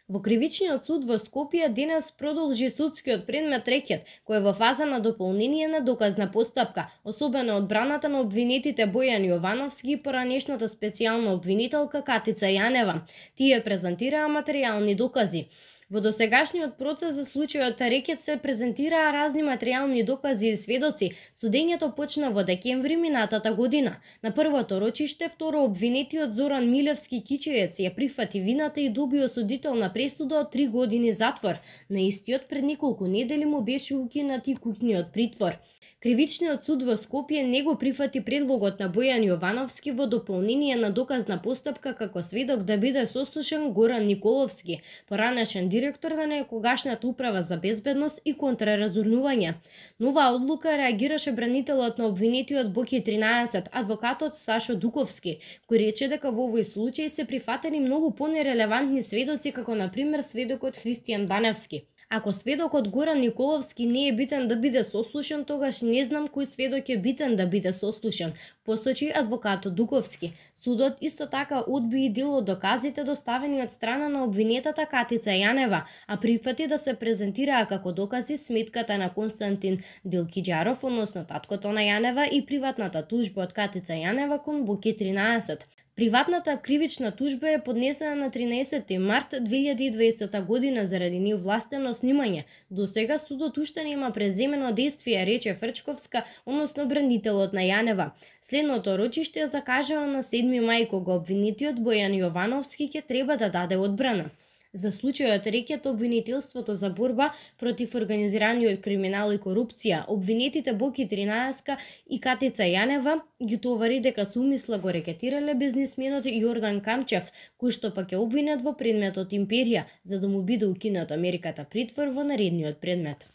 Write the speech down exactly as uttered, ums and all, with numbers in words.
Во Кривичниот суд во Скопје денес продолжи судскиот предмет рекет, кој е во фаза на дополнение на доказна постапка, особено одбраната на обвинетите Бојан Јовановски и поранешната специјална обвинителка Катица Јанева. Тие презентираа материјални докази. Во досегашниот процес за случајот рекет се презентираа разни материјални докази и сведоци. Судењето почна во декември минатата година. На првото рочиште, второ обвинетиот Зоран Милевски Кичиец ја прифати вината и доби осудителна пресуда од три години затвор. На истиот пред неколку недели му беше укинат и куќниот притвор. Кривичниот суд во Скопје не го прифати предлогот на Бојан Јовановски во дополнение на доказна постапка како сведок да биде сослушан Горан Николовски, поранешен директор на некогашната управа за безбедност и контраразурнување. Нова одлука реагираше бранителот на обвинетиот Боки тринаесет, адвокатот Сашо Дуковски, кој рече дека во овој случај се прифатени многу понерелевантни сведоци, како на пример сведокот Христијан Баневски. Ако сведокот Горан Николовски не е битен да биде сослушан, тогаш не знам кој сведок е битен да биде сослушан, посочи адвокатот Дуковски. Судот исто така одби и дел од доказите доставени од страна на обвинетата Катица Јанева, а прифати да се презентираа како докази сметката на Константин Делкиџаров, односно таткото на Јанева, и приватната тужба од Катица Јанева кон Боки тринаесет. Приватната кривична тужба е поднесена на тринаесети март две илјади и дваесета година заради неовластено снимање. До сега судот уште нема преземено дејствие, рече Фрчковска, односно бранителот на Јанева. Следното рочиште е закажано на седми мај, кога обвинетиот Бојан Јовановски ќе треба да даде одбрана. За случајот рекет обвинителството за борба против организираниот криминал и корупција, обвинетите Боки тринаесет и Катица Јанева ги товари дека со умисла го рекетирале бизнисменот Јордан Камчев, кој што пак е обвинет во предметот Империја, за да му биде укината мерката притвор во наредниот предмет.